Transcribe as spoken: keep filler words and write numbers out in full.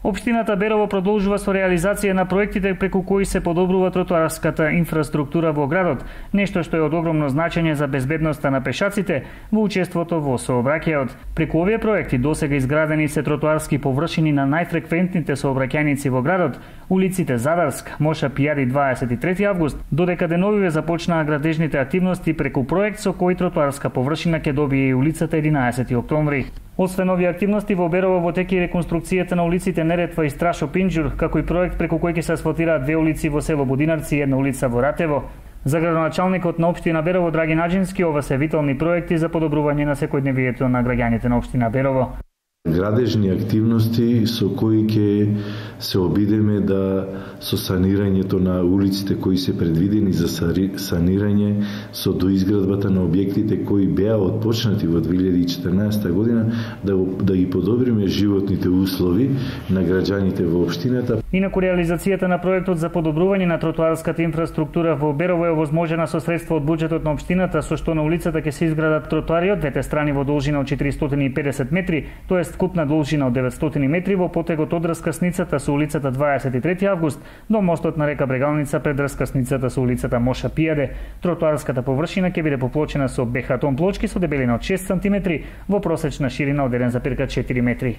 Општината Берово продолжува со реализација на проектите преку кои се подобрува тротоарската инфраструктура во градот, нешто што е од огромно значење за безбедноста на пешаците во учеството во сообраќајот. Преку овие проекти досега изградени се тротоарски површини на најфреквентните сообраќајници во градот, улиците Задарск, Моша Пијади дваесет и трети август, додека деновиве започнаа градежните активности преку проект со кој тротоарска површина ќе добие и улицата единаесети октомври. Освен овие активности во Берово во теке реконструкцијата на улиците Неретва и Страшо Пинџур, како и проект преку кој ќе се асфалтираат две улици во село Будинарци и една улица во Ратево. За градоначалникот на општина Берово Драги Наџински, ова се витални проекти за подобрување на секојдневието на граѓаните на општина Берово. Градежни активности со кои ќе се обидеме да со санирањето на улиците кои се предвидени за санирање, со доизградбата на објектите кои беа отпочнати во две илјади и четрнаесета година, да, да ги подобриме животните услови на граѓаните во општината. Инаку реализацијата на проектот за подобрување на тротоарската инфраструктура во Берово е овозможена со средства од буџетот на општината, со што на улицата ќе се изградат тротоари од двете страни во должина од четиристотини и педесет метри, тоест вкупна должина од деветстотини метри во потегот од раскасницата со улицата дваесет и трети август до мостот на река Брегалница пред раскасницата со улицата Моша Пијаде. Тротоарската површина ќе биде поплочена со бехатон плочки со дебелина од шест сантиметри во просечна ширина од еден зарез четири метри.